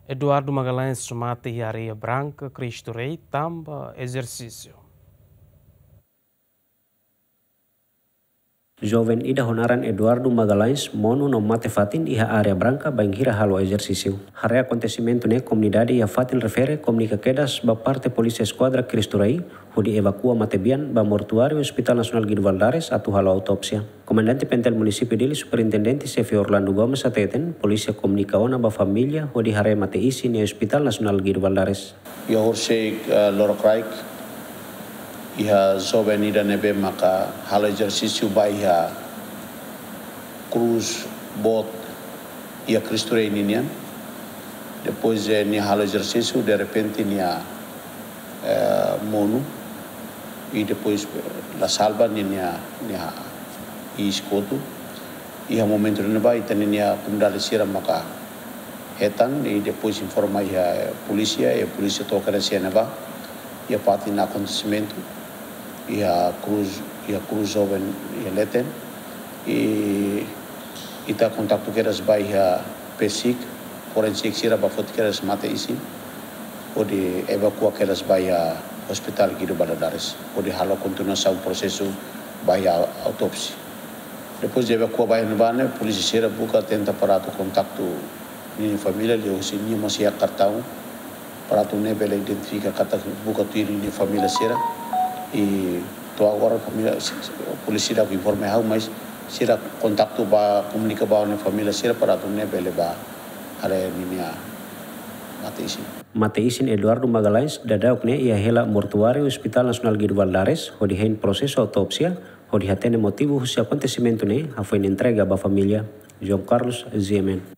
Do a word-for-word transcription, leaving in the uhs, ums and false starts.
Eduardo Magalhães mate iha Areia Branca, Cristo Rei, tanba ezersísiu. Joven ida ho naran Eduardo Magalhães monu no mate fatin iha Areia Branca bainhira halo ezersísiu. Haree akontesimentu ne'e, komunidade iha fatin refere komunika kedas ba parte Polísia Eskuadra Cristo Rei, hodi evakua matebian ba mortuáriu Hospital Nasionál Guido Valadares atu halo autópsia. Komandante PNTL Munisípiu Dili, Superintendente Xefe Orlando Gomes hateten, polísia komunika ona ba família hodi haree mate-isin iha Hospital Nasionál Guido Valadares. Iha horisehik, eh, lorokraik, iha joven ida ne'ebé maka halo ezersísiu ba iha krús boot iha Cristo Rei ninian. Depois, eh, nia halo ezersísiu, derrepente nia, eh, monu. I depois, eh, la salva nia, nia, nia iis kotuk. Iha momentu ne'ebá, ita-nia komunidade sira maka hetan, i depois informa iha polísia, i polísia to'o kedas iha ne'ebá, iha fatin akontesimentu, iha krús, iha krús joven iha leten, i ita kontaktu kedas ba iha PCIC, forensik sira ba foti kedas mate-isin, hodi evakua kedas ba iha Hospital Guido Valadares, hodi halo kontinuasaun prosesu ba iha autópsia. Depois de evakua ba iha ne'ebá ne'e, polísia sira buka tenta para atu kontaktu ninia família, liuhusi nia mós iha kartaun, para atu nune'e bele identifika katak buka tuir ninia família sira. I to'o agora família, polísia sira informa ha'u, mas sira kontaktu ba, komunika ba ninia família sira para atu nune'e bele ba haree ninia mate-isin. Mate-isin Eduardo Magalhães daudauk ne'e iha hela mortuáriu Hospital Nasionál Guido Valadares, hodi hein prosesu autópsia, hodi hatene motivu husi akontesimentu ne'e, hafoin entrega ba família. João Carlos, GMN.